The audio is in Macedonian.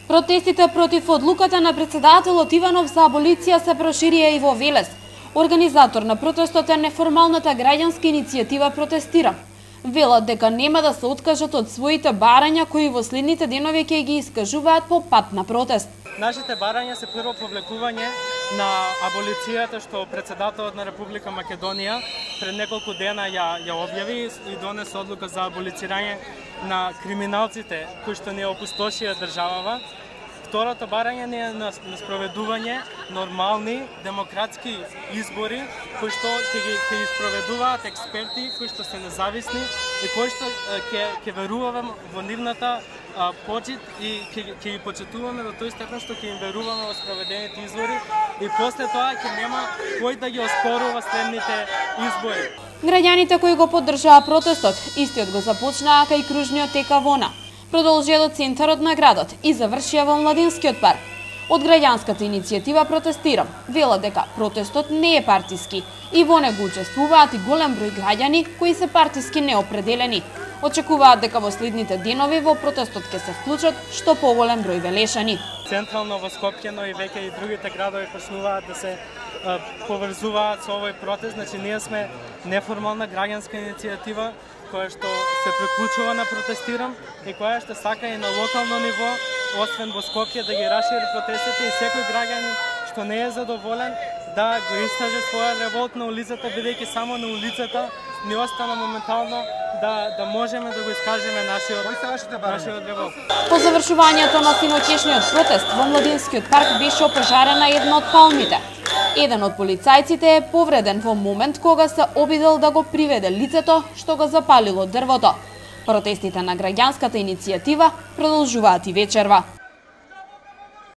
Протестите против одлуката на председателот Иванов за аболиција се проширија и во Велес. Организатор на протестот е неформалната граѓанска иницијатива Протестирам. Велат дека нема да се откажат од своите барања кои во следните денови ќе ги искажуваат по пат на протест. Нашите барања се прво повлекување на аболицијата што председателот на Република Македонија пред неколку дена ја објави и донесе одлука за аболицирање на криминалците кои што не опустошија државава. Второто барање не е на спроведување нормални демократски избори кои што ќе ги спроведуваат експерти кои што се независни и кои што ќе веруваме во нивната почит и ќе ги почитуваме до тој степен што ќе им веруваме во спроведените избори и после тоа ќе нема кој да ги оспорува следните избори. Граѓаните кои го поддржаа протестот, истиот го започнаа кај кружниот тека Вона, продолжија до центарот на градот и завршија во Младинскиот парк. Од граѓанската иницијатива Протестирам велат дека протестот не е партиски и во него учествуваат и голем број граѓани кои се партиски неопределени. Очекуваат дека во следните денови во протестот ќе се вклучат што поголем број велешани. Централно во Скопје, но и веќе и другите градови почнуваат да се поврзуваат со овој протест. Значи ние сме неформална граѓанска иницијатива која што се приклучува на Протестирам и која што сака и на локално ниво, освен во Скопје, да ги расшири протестите и секој граѓанин што не е задоволен да го искаже својот револт на улицата, бидејќи само на улицата ни остана моментално да можеме да го искажеме нашиот револт. По завршувањето на синоќешниот протест во Младинскиот парк беше опожарена една од палмите. Еден од полицајците е повреден во момент кога се обидел да го приведе лицето што го запалило дрвото. Протестите на граѓанската иницијатива продолжуваат и вечерва.